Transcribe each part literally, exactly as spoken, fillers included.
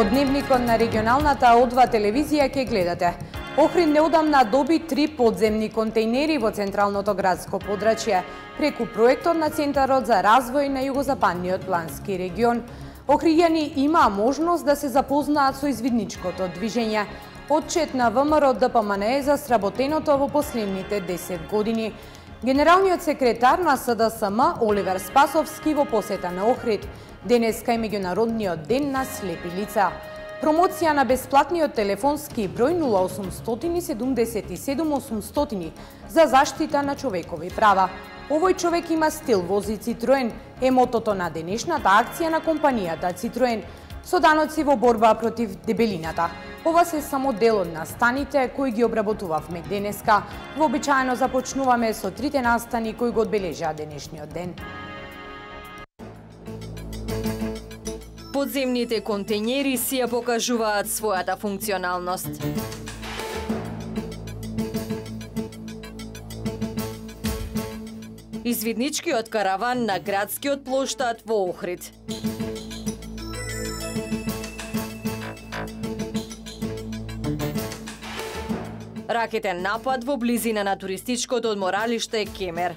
Во дневникот на регионалната О два телевизија ќе гледате. Охрид неодамна доби три подземни контейнери во централното градско подрачје преку проектот на Центарот за развој на југозападниот плански регион. Охриѓани имаа можност да се запознаат со извидничкото движење. Отчет на ВМРО Д П М Н е за сработеното во последните десет години. Генералниот секретар на С Д С М Оливер Спасовски во посета на Охрид. Денеска е меѓународниот ден на слепи лица. Промоција на бесплатниот телефонски број нула осумстотини седумдесет и седум осумстотини за заштита на човекови права. Овој човек има стил, вози Citroen, е мотото на денешната акција на компанијата Citroen со даноци во борба против дебелината. Ова се само дел од настаните кои ги обработувавме денеска. Вообичаено започнуваме со трите настани кои го одбележаа денешниот ден. Подземните контејнери си ја покажуваат својата функционалност. Извидничкиот караван на градскиот плоштад во Охрид. Ракетен напад во близина на туристичкото одморалиште Кемер.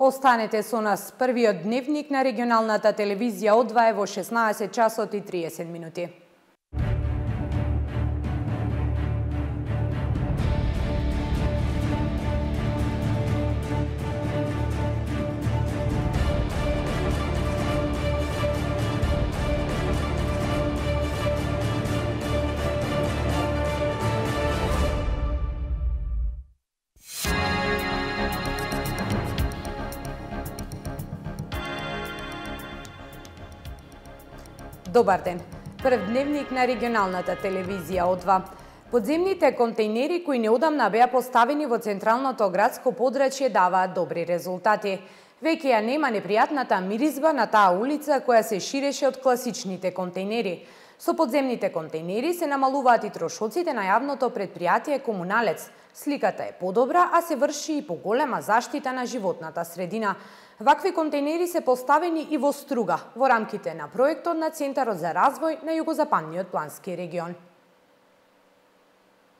Останете со нас. Првиот дневник на регионалната телевизија О два е во шеснаесет часот и триесет минути. Добар ден. Прв дневник на регионалната телевизија О два. Подземните контејнери кои неодамна беа поставени во централното градско подрачје даваат добри резултати. Веќе ја нема непријатната миризба на таа улица која се ширеше од класичните контејнери. Со подземните контејнери се намалуваат и трошоците на јавното предпријатие Комуналец. Сликата е подобра, а се врши и поголема заштита на животната средина. Вакви контејнери се поставени и во Струга, во рамките на проектот на Центарот за развој на југозападниот плански регион.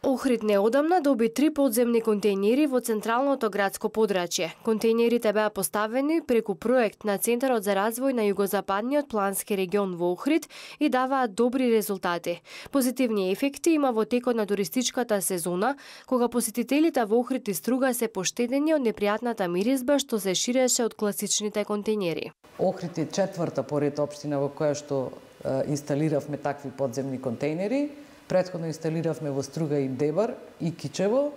Охрид неодамна доби три подземни контејнери во централното градско подрачје. Контејнерите беа поставени преку проект на Центарот за развој на југозападниот плански регион во Охрид и даваат добри резултати. Позитивни ефекти има во текот на туристичката сезона, кога посетителите во Охрид и Струга се поштедени од непријатната миризба што се ширеше од класичните контејнери. Охрид е четврта поред општина во која што е, инсталиравме такви подземни контејнери. Претходно инсталиравме во Струга и Дебар и Кичево,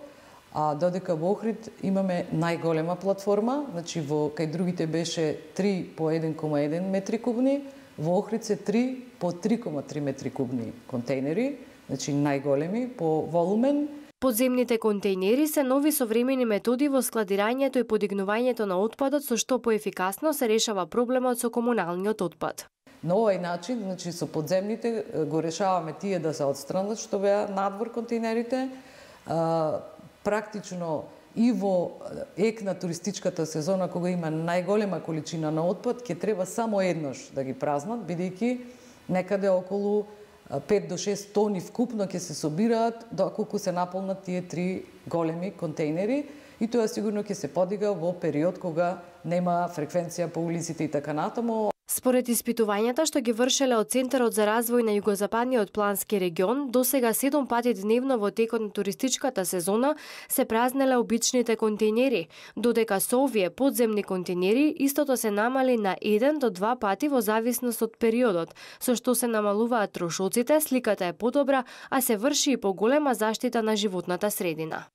а додека во Охрид имаме најголема платформа, значи во кај другите беше три по еден кома еден метри кубни, во Охрид се три по три кома три метри кубни контејнери, значи најголеми по волумен. Подземните контејнери се нови современи методи во складирањето и подигнувањето на отпадот, со што поефикасно се решава проблемот со комуналниот отпад. На овој начин, значи со подземните го решаваме тие да се отстранат што беа надвор контејнерите. А, практично и во ек на туристичката сезона кога има најголема количина на отпад, ќе треба само еднаш да ги празнат, бидејќи некаде околу пет до шест тони вкупно ќе се собираат доколку се наполнат тие три големи контејнери, и тоа сигурно ќе се подига во период кога нема фреквенција по улиците и така натаму. Според испитувањата што ги вршеле од Центарот за развој на југозападниот плански регион, досега седум пати дневно во текот на туристичката сезона се празнеле обичните контејнери, додека со овие подземни контејнери истото се намали на еден до два пати во зависност од периодот, со што се намалуваат трошоците, сликата е подобра, а се врши и поголема заштита на животната средина.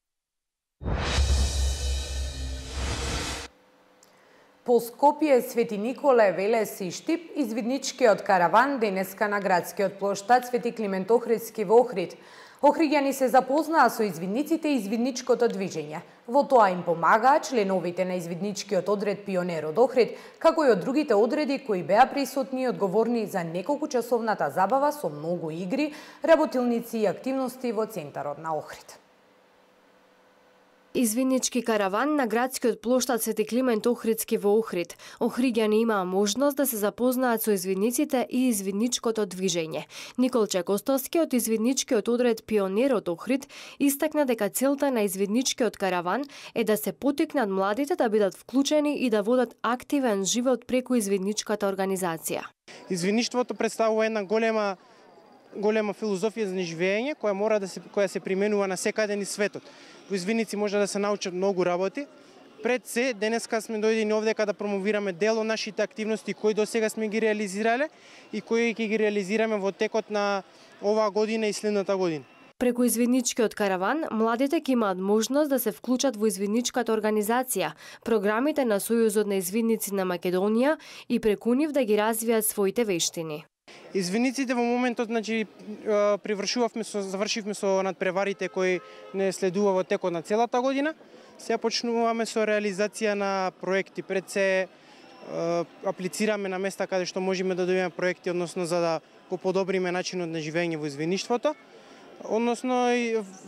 По Скопје, Свети Николе, Велес и Штип, извидничкиот караван денеска на градскиот плоштад Свети Климент Охридски во Охрид. Охриѓани се запознаа со извидниците и извидничкото движење. Во тоа им помагаа членовите на извидничкиот одред Пионер од Охрид, како и од другите одреди кои беа присутни и одговорни за неколку часовната забава со многу игри, работилници и активности во центарот на Охрид. Извиннички караван на градскиот плоштад Свети Климент Охридски во Охрид. Охриѓани имаа можност да се запознаат со извинниците и извинничкото движење. Николче Костовски од извинничкиот одред Пионер од Охрид истакна дека целта на извинничкиот караван е да се поттикнат младите да бидат вклучени и да водат активен живот преку извинничката организација. Извинништвото представува една голема голема филозофија за живење која мора да се која се применува на секаде низ светот. Во извинници може да се научат многу работи. Пред се, денеска сме дојдени овдека да промовираме дел од нашите активности кои до сега сме ги реализирале и кои ќе ги реализираме во текот на оваа година и следната година. Преку извинничкиот караван, младите ќе имаат можност да се вклучат во извинничката организација, програмите на Сојузот на извинници на Македонија и преку нив да ги развијат своите вештини. Извинниците во моментот, значи, привршувавме со завршивме со надпреварите кои не следува во текот на целата година. Сега почнуваме со реализација на проекти. Пред се аплицираме на места каде што можеме да добиеме проекти, односно за да го подобриме начинот на живење во извинништвото. Односно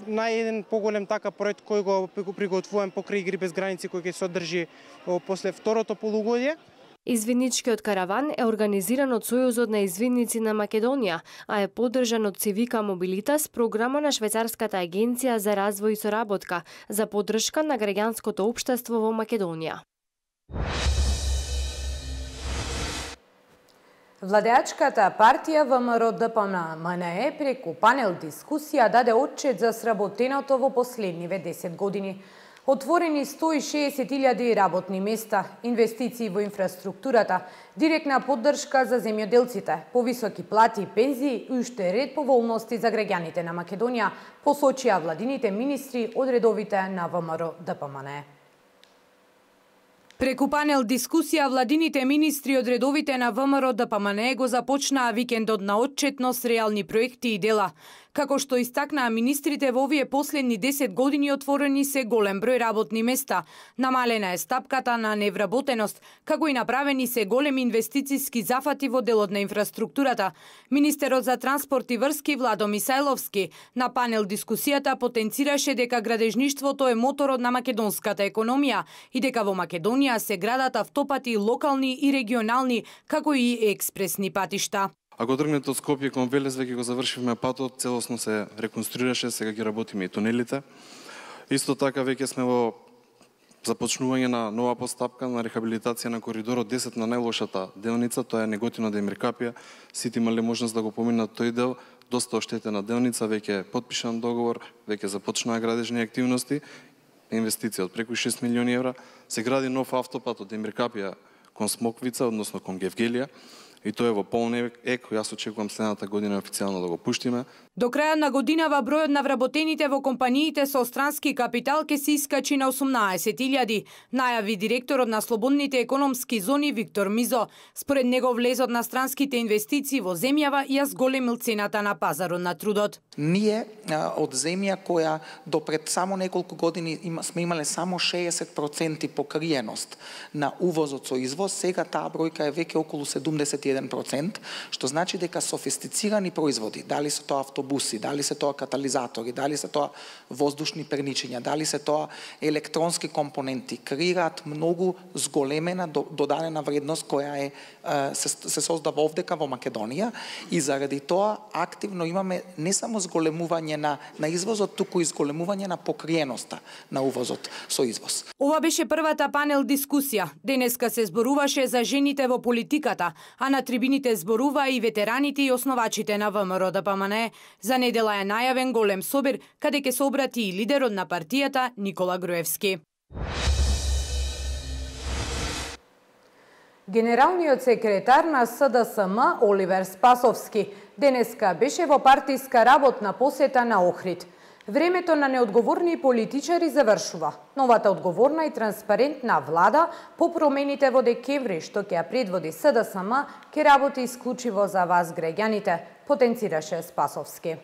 нај еден поголем така проект кој го приготвуваме покрај Игри без граници кој ќе се одржи после второто полугодие. Извинничкиот караван е организиран од Сојузот на извинници на Македонија, а е поддржан од Цивика Мобилитас, програма на Швајцарската агенција за развој и соработка за поддршка на граѓанското општество во Македонија. Владеачката партија ВМРО-ДПМНЕ преку панел дискусија даде отчет за сработеното во последниве десет години. Отворени сто и шеесет илјади работни места, инвестиции во инфраструктурата, директна поддршка за земјоделците, повисоки плати и пензии и уште ред поволности за граѓаните на Македонија, посочија владините министри од редовите на ВМРО-ДПМНЕ. Преку панел дискусија, владините министри од редовите на ВМРО-ДПМНЕ го започнаа викендот на отчетност, реални проекти и дела. Како што истакнаа министрите, во овие последни десет години отворени се голем број работни места, намалена е стапката на невработеност, како и направени се големи инвестициски зафати во делот на инфраструктурата. Министерот за транспорт и врски Владо Мисајловски на панел дискусијата потенцираше дека градежништвото е моторот на македонската економија и дека во Македонија се градат автопати локални и регионални, како и експресни патишта. Ако тргнете од Скопје кон Велес, веќе го завршивме патот, целосно се реконструираше, сега ги работиме и тунелите. Исто така веќе сме во започнување на нова постапка на рехабилитација на коридорот десет на најлошата делница, тоа е Неготино Демиркапија. Сите имале можност да го поминат тој дел, доста оштетена делница, веќе е потпишан договор, веќе започнаа градежни активности, инвестиција од преку шест милиони евра. Се гради нов автопат од Демиркапија кон Смоквица, односно кон Гевгелија. И тоа е во полн ек, јас очекувам следната година официјално да го пуштиме. До крајот на годинава бројот на вработените во компаниите со странски капитал ќе се искачи на осумнаесет илјади, најави директорот на слободните економски зони Виктор Мизо. Според него влезот на странските инвестиции во земјава ја зголемил цената на пазарот на трудот. Ние од земја која до пред само неколку години има, сме имале само шеесет проценти покриеност на увозот со извоз, сега таа бројка е веќе околу седумдесет и еден процент, што значи дека софистицирани производи, дали се тоа автобуси, дали се тоа катализатори, дали се тоа воздушни перничиња, дали се тоа електронски компоненти, креираат многу зголемена додадена вредност која е се, се создава овдека во Македонија и заради тоа активно имаме не само зголемување на на извозот, туку и зголемување на покриеноста на увозот со извоз. Ова беше првата панел дискусија. Денеска се зборуваше за жените во политиката, а на трибините зборува и ветераните и основачите на ВМРО-ДПМНЕ. За недела е најавен голем собир, каде ќе се обрати и лидерот на партијата Никола Груевски. Генералниот секретар на СДСМ Оливер Спасовски денеска беше во партиска работна посета на Охрид. Времето на неодговорни политичари завршува. Новата одговорна и транспарентна влада по промените во декември што ќе ја предводи СДСМ ќе работи исклучиво за вас граѓаните, потенцираше Спасовски.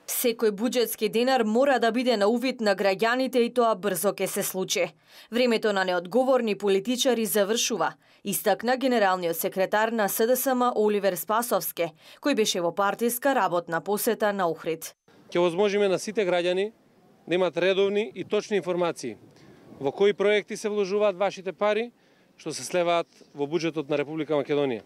Секој буџетски денар мора да биде на увид на граѓаните и тоа брзо ќе се случи. Времето на неодговорни политичари завршува, истакна генералниот секретар на СДСМ Оливер Спасовски, кој беше во партиска работна посета на Охрид. Ќе возможиме на сите граѓани да имат редовни и точни информации во кои проекти се вложуваат вашите пари што се слеваат во буџетот на Република Македонија.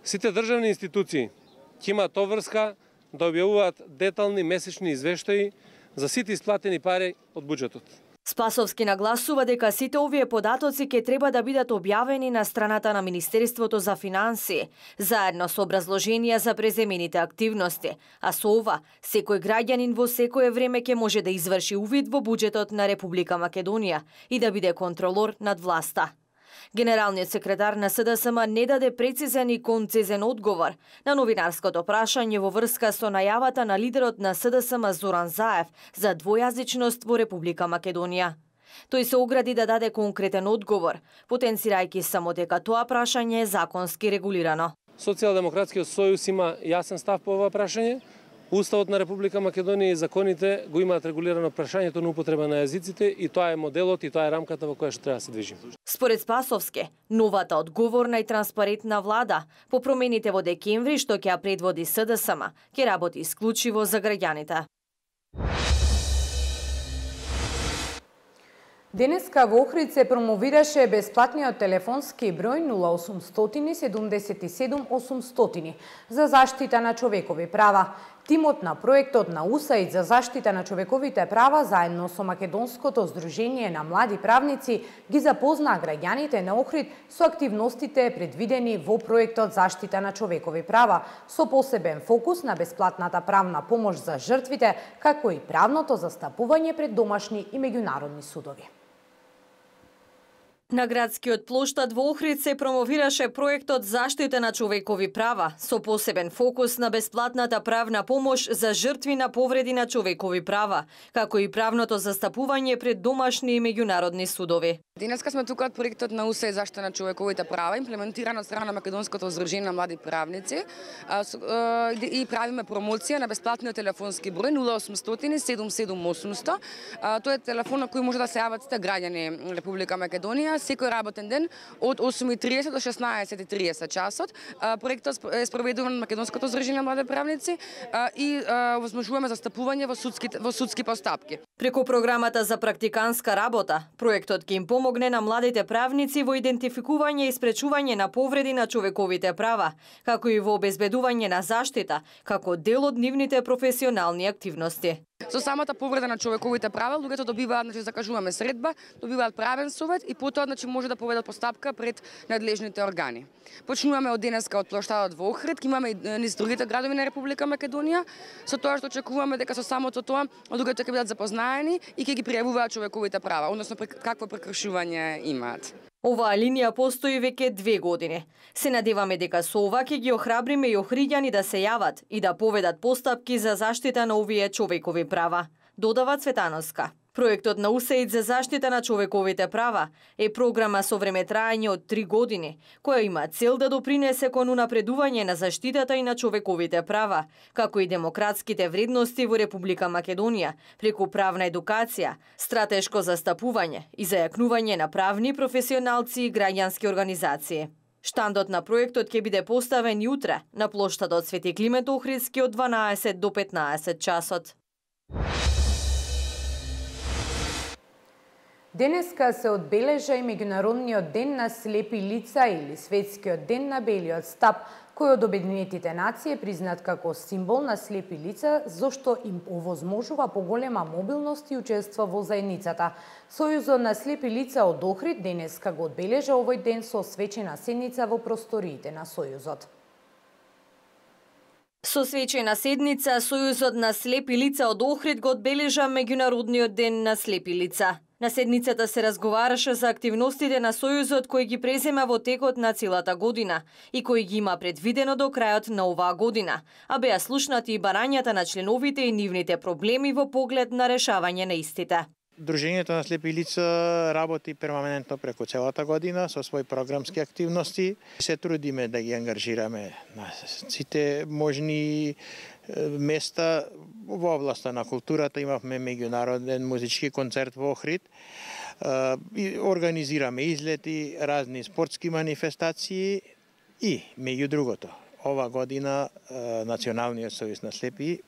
Сите државни институции ќе имаат обврска да објавуваат детални месечни извештаи за сите исплатени пари од буџетот. Спасовски нагласува дека сите овие податоци ќе треба да бидат објавени на страната на Министерството за финансии, заедно со образложенија за преземените активности, а со ова, секој граѓанин во секое време ќе може да изврши увид во буџетот на Република Македонија и да биде контролор над власта. Генералниот секретар на СДСМ не даде прецизен и концизен одговор на новинарското прашање во врска со најавата на лидерот на СДСМ Зоран Заев за двојазичност во Република Македонија. Тој се огради да даде конкретен одговор, потенцирајќи само дека тоа прашање е законски регулирано. Социјалдемократскиот сојуз има јасен став по ова прашање. Уставот на Република Македонија и законите го имаат регулирано прашањето на употреба на јазиците и тоа е моделот и тоа е рамката во која што треба да се движи. Според Спасовски, новата одговорна и транспарентна влада по промените во декември што ќе ја предводи СДСМ ќе работи исклучиво за граѓаните. Денеска во Охрид се промовираше бесплатниот телефонски број нула осумстотини седумдесет и седум осумстотини за заштита на човекови права. Тимот на проектот на УСАИД за заштита на човековите права заедно со Македонското здружение на млади правници ги запознаа граѓаните на Охрид со активностите предвидени во проектот Заштита на човекови права, со посебен фокус на бесплатната правна помош за жртвите, како и правното застапување пред домашни и меѓународни судови. На градскиот плоштад во Охрид се промовираше проектот Заштита на човекови права, со посебен фокус на бесплатната правна помош за жртви на повреди на човекови права, како и правното застапување пред домашни и меѓународни судови. Денеска сме тука од проектот на УСАИД Заштита на човековите права, имплементиран од страна на Македонското здружение на млади правници, и правиме промоција на бесплатниот телефонски број нула осумстотини седум седум осумстотини. Тој е телефон на кој може да се јават сите граѓани на Република Македонија секој работен ден од осум и триесет до шеснаесет и триесет часот. Проектот е спроведуван од Македонското здружение на млади правници и возможуваме застапување во судски во судски постапки. Преку програмата за практиканска работа, проектот ќе им помогне на младите правници во идентификување и спречување на повреди на човековите права, како и во обезбедување на заштита, како дел од нивните професионални активности. Со самата повреда на човековите права, луѓето добиваат, значи закажуваме средба, добиваат правен совет и потоа значи може да поведат постапка пред надлежните органи. Почнуваме од денеска од плоштадот во Охрид, имаме и низ другите градови на Република Македонија, со тоа што очекуваме дека со самото тоа луѓето ќе бидат запознаени и ќе ги пријавуваат човековите права, односно какво прекршување имаат. Оваа линија постои веќе две години. Се надеваме дека со ова ќе ги охрабриме и охриѓани да се јават и да поведат постапки за заштита на овие човекови права, додава Цветановска. Проектот на УСАИД за заштита на човековите права е програма со времетраење од три години, која има цел да допринесе кон унапредување на заштитата и на човековите права, како и демократските вредности во Република Македонија, преку правна едукација, стратешко застапување и зајакнување на правни професионалци и граѓански организации. Штандот на проектот ќе биде поставен утре на плоштадот Свети Климент Охридски од дванаесет до петнаесет часот. Денеска се одбележа и Меѓународниот ден на слепи лица или Светскиот ден на белиот стап, кој од Обединетите нации е признат како символ на слепи лица, зашто им овозможува поголема мобилност и учество во заедницата. Сојузот на слепи лица од Охрид денеска го одбележа овој ден со свечена седница во просториите на Сојузот. Со свечена седница, Сојузот на слепи лица од Охрид го одбележа Меѓународниот ден на слепи лица. На седницата се разговараше за активностите на Сојузот кои ги презема во текот на целата година и кои ги има предвидено до крајот на оваа година, а беа слушнати и барањата на членовите и нивните проблеми во поглед на решавање на истите. Дружењето на слепи лица работи перманентно преку целата година со своји програмски активности. Се трудиме да ги ангажираме на сите можни места во областа на културата. Имавме меѓународен музички концерт во Охрид. Организираме излети, разни спортски манифестации и, меѓу другото, ова година Националниот сојуз на слепи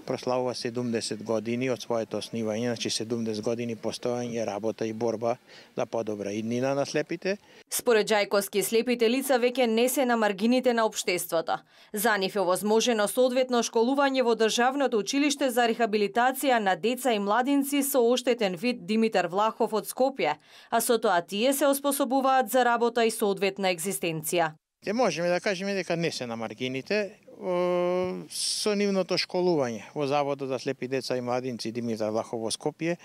прославува седумдесет години од своето основање, значи седумдесет години постојање, работа и борба за подобра иднина на слепите. Според Ѓајковски, слепите лица веќе не се на маргините на општеството. За нив е возможено соодветно школување во Државното училиште за рехабилитација на деца и младинци со оштетен вид Димитар Влахов од Скопје, а со тоа тие се оспособуваат за работа и соодветна екзистенција. Те можеме да кажеме дека не се на маргините, со нивното школување во Заводот за слепи деца и младинци Димитар Влахов во Скопје,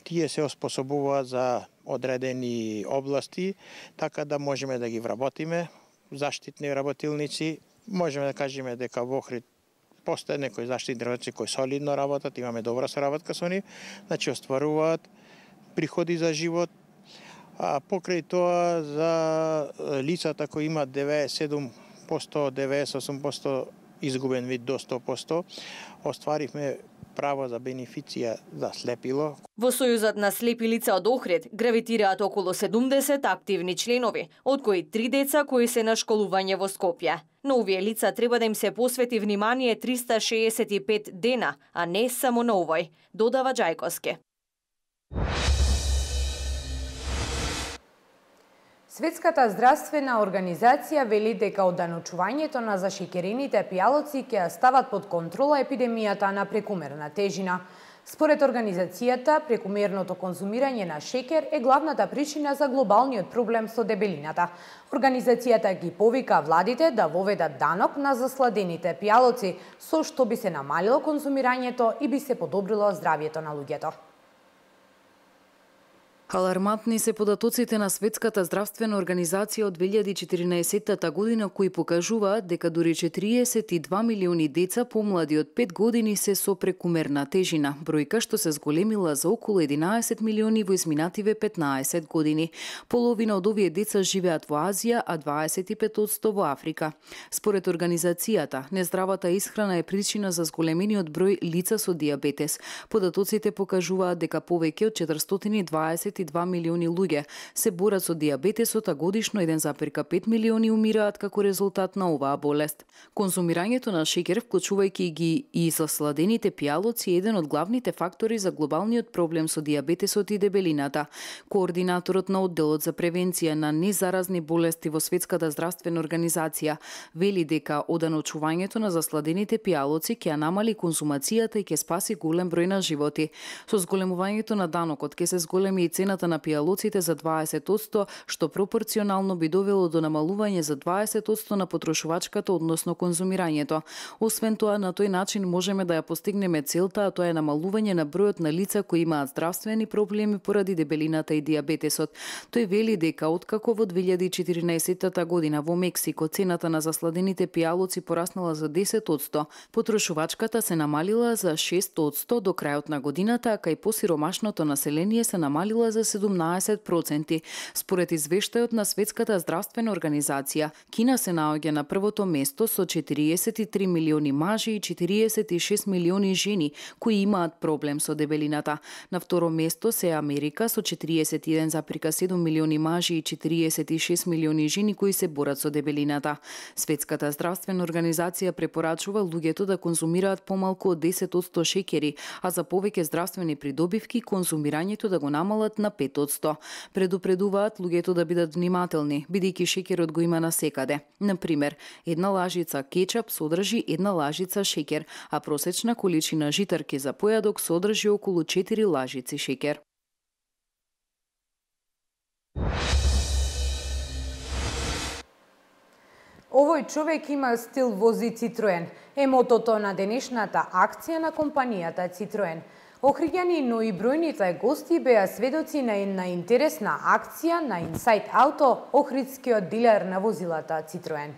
тие се оспособуваат за одредени области, така да можеме да ги вработиме, заштитни работилници. Можеме да кажеме дека во Охрид постоje некои заштитни работници кои солидно работат, имаме добра соработка со нив, значи остваруваат приходи за живот. А покрај тоа за лицата кои имаат девеесет и седум проценти, девеесет и осум проценти изгубен вид до сто проценти, остваривме право за бенефиција за слепило. Во Сојузот на слепи лица од Охрид гравитираат околу седумдесет активни членови, од кои три деца кои се на школување во Скопје. На овие лица треба да им се посвети внимание триста шеесет и пет дена, а не само на овој, додава Ѓајковски. Светската здравствена организација вели дека оданочувањето на зашекерените пијалоци ќе стават под контрола епидемијата на прекумерна тежина. Според организацијата, прекумерното конзумирање на шекер е главната причина за глобалниот проблем со дебелината. Организацијата ги повика владите да воведат данок на засладените пијалоци, со што би се намалило конзумирањето и би се подобрило здравјето на луѓето. Алармантни се податоците на Светската здравствена организација од две илјади и четиринаесетта година, кои покажуваат дека дури четириесет и два милиони деца помлади од пет години се со прекумерна тежина, бројка што се зголемила за околу единаесет милиони во изминативе петнаесет години. Половина од овие деца живеат во Азија, а дваесет и пет проценти во Африка. Според организацијата, нездравата исхрана е причина за зголемениот број лица со дијабетес. Податоците покажуваат дека повеќе од четиристотини и дваесет и два милиони луѓе се борат со дијабетесот, а годишно еден запирка пет милиони умираат како резултат на оваа болест. Конзумирањето на шеќер, вклучувајќи ги и засладените пијалоци, е еден од главните фактори за глобалниот проблем со дијабетесот и дебелината. Координаторот на одделот за превенција на незаразни болести во Светската здравствена организација вели дека оданочувањето на засладените пијалоци ќе намали конзумацијата и ќе спаси голем број на животи. Со зголемувањето на данокот ќе се зголеми и цената на пијалоците за дваесет проценти, што пропорционално би довело до намалување за дваесет проценти на потрошувачката, односно конзумирањето. Освен тоа, на тој начин можеме да ја постигнеме целта, а тоа е намалување на бројот на лица кои имаат здравствени проблеми поради дебелината и дијабетесот. Тој вели дека откако во две илјади и четиринаесетта година во Мексико цената на засладените пијалоци пораснала за десет проценти, потрошувачката се намалила за шест проценти до крајот на годината, а кај посиромашното население се намалила за седумнаесет проценти. Според извештајот на Светската здравствена организација, Кина се наоѓа на првото место со четириесет и три милиони мажи и четириесет и шест милиони жени кои имаат проблем со дебелината. На второ место се Америка со четириесет и еден запирка седум милиони мажи и четириесет и шест милиони жени кои се борат со дебелината. Светската здравствена организација препорачува луѓето да конзумираат помалку од десет проценти шеќери, а за повеќе здравствени придобивки конзумирањето да го намалат на пет проценти. Предупредуваат луѓето да бидат внимателни, бидејќи шеќерот го има насекаде. Например, една лажица кетчап содржи една лажица шеќер, а просечна количина житарки за појадок содржи околу четири лажици шеќер. Овој човек има стил, вози Citroen. Е мотото на денешната акција на компанијата Citroen. Охриѓани, но и бројните гости беа сведоци на една интересна акција на Inside Auto, охридскиот дилер на возилата Citroen.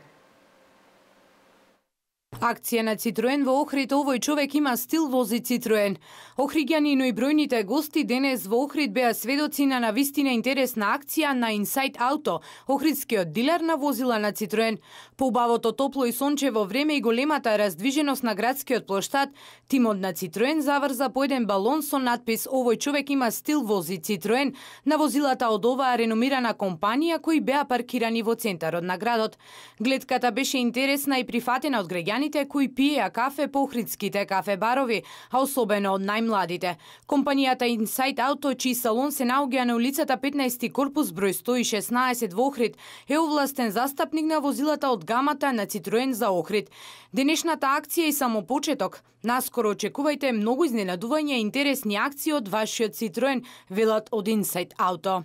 Акција на Citroen во Охрид, овој човек има стил, вози Citroen. Охриѓани, но и бројните гости денес во Охрид беа сведоци на навистина интересна акција на Inside Auto, охридскиот дилер на возила на Citroen. По убавото топло и сончево време и големата раздвиженост на градскиот плоштад, тимот на Citroen заврза по еден балон со надпис "Овој човек има стил, вози Citroen" на возилата од оваа реномирана компанија кои беа паркирани во центарот на градот. Гледката беше интересна и прифатена од граѓаните граѓаните кои пиеа кафе по охридските кафе барови, а особено од најмладите. Компанијата Inside Auto, чиј салон се наоѓа на улицата петнаести корпус број сто и шеснаесет во Охрид, е овластен застапник на возилата од гамата на Citroen за Охрид. Денешната акција е само почеток. Наскоро очекувајте многу изненадување и интересни акции од вашиот Citroen, велат од Inside Auto.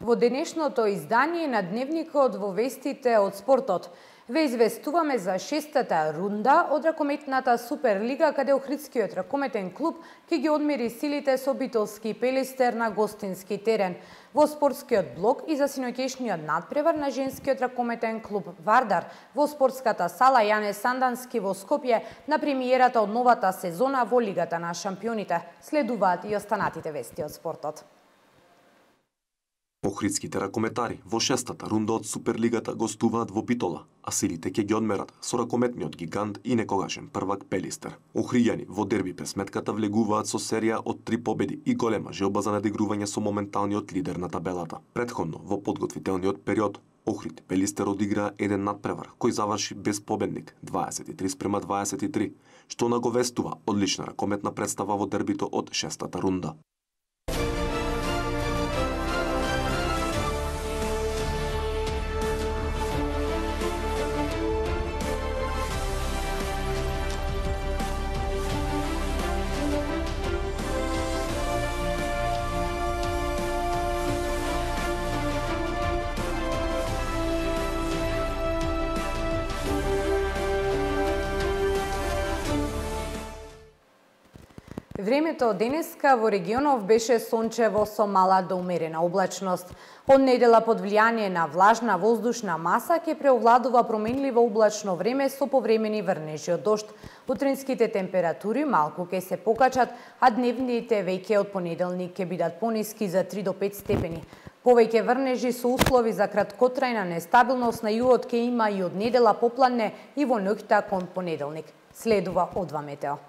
Во денешното издание на Дневникот во вестите од спортот ве известуваме за шестата рунда од ракометната Суперлига, каде Охридскиот ракометен клуб ќе ги одмери силите со Битолски Пелистер на гостински терен. Во спортскиот блок и за синоќешниот надпревар на женскиот ракометен клуб Вардар во спортската сала Јане Сандански во Скопје на премиерата од новата сезона во Лигата на шампионите. Следуваат и останатите вести од спортот. Охридските ракометари во шестата рунда од Суперлигата гостуваат во Битола, а силите ќе ги одмерат со ракометниот гигант и некогашен првак Пелистер. Охријани во дерби пресметката влегуваат со серија од три победи и голема желба за надигрување со моменталниот лидер на табелата. Претходно во подготвителниот период Охрид Пелистер одигра еден надпревар кој заврши без победник дваесет и три спрема дваесет и три, што наговестува одлична ракометна представа во дербито од шестата рунда. Времето денеска во регионов беше сончево со мала до умерена облачност. Од недела под влијание на влажна воздушна маса ќе преовладува променливо облачно време со повремени врнежи од дожд. Утринските температури малку ќе се покачат, а дневните веќе од понеделник ќе бидат пониски за три до пет степени. Повеќе врнежи со услови за краткотрајна нестабилност на југот ќе има и од недела попладне и во ноќта кон понеделник. Следува Одва Метео.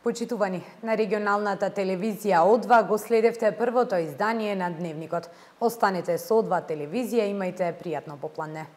Почитувани, на регионалната телевизија Одва го следевте првото издание на Дневникот. Останете со Одва телевизија, имајте пријатно попладне.